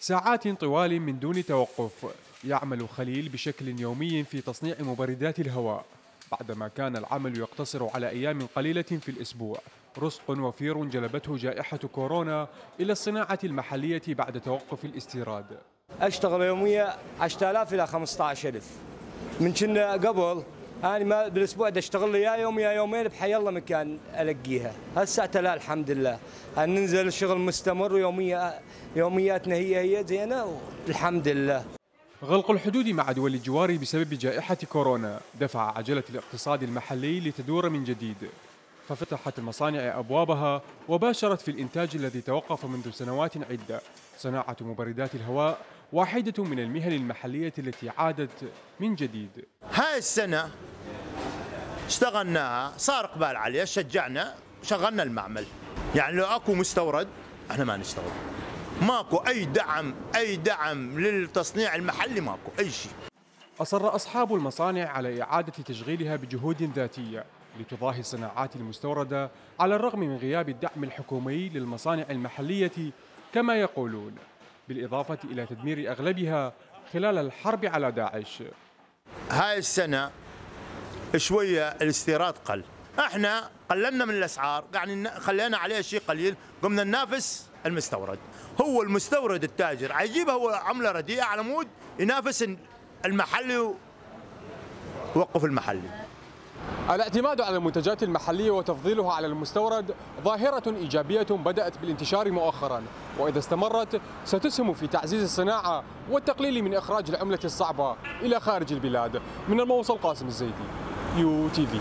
ساعات طوال من دون توقف يعمل خليل بشكل يومي في تصنيع مبردات الهواء، بعدما كان العمل يقتصر على أيام قليلة في الأسبوع. رزق وفير جلبته جائحة كورونا إلى الصناعة المحلية بعد توقف الاستيراد. أشتغل يوميا 10000 إلى 15000. من كنا قبل أنا ما بالأسبوع دا أشتغل لي يا يوم يا يومين بحي الله مكان ألقيها. هسه لا الحمد لله ننزل الشغل مستمر يومياتنا هي زينة الحمد لله. غلق الحدود مع دول الجوار بسبب جائحة كورونا دفع عجلة الاقتصاد المحلي لتدور من جديد، ففتحت المصانع أبوابها وباشرت في الإنتاج الذي توقف منذ سنوات عدة. صناعة مبردات الهواء واحدة من المهن المحلية التي عادت من جديد. هاي السنة اشتغلناها، صار إقبال عليها، شجعنا، شغلنا المعمل. يعني لو أكو مستورد احنا ما نشتغل. ماكو أي دعم للتصنيع المحلي، ماكو أي شيء. أصر أصحاب المصانع على إعادة تشغيلها بجهود ذاتية لتضاهي الصناعات المستوردة على الرغم من غياب الدعم الحكومي للمصانع المحلية كما يقولون، بالإضافة إلى تدمير أغلبها خلال الحرب على داعش. هاي السنة شوية الاستيراد قل، احنا قللنا من الأسعار، يعني خلينا عليه شيء قليل، قمنا ننافس المستورد. هو المستورد التاجر عيجيب هو عملة رديئة على مود ينافس المحلي ويوقف المحلي. الاعتماد على المنتجات المحلية وتفضيلها على المستورد ظاهرة إيجابية بدأت بالانتشار مؤخرا، وإذا استمرت ستسهم في تعزيز الصناعة والتقليل من إخراج العملة الصعبة إلى خارج البلاد. من الموصل قاسم الزيدي، UTV.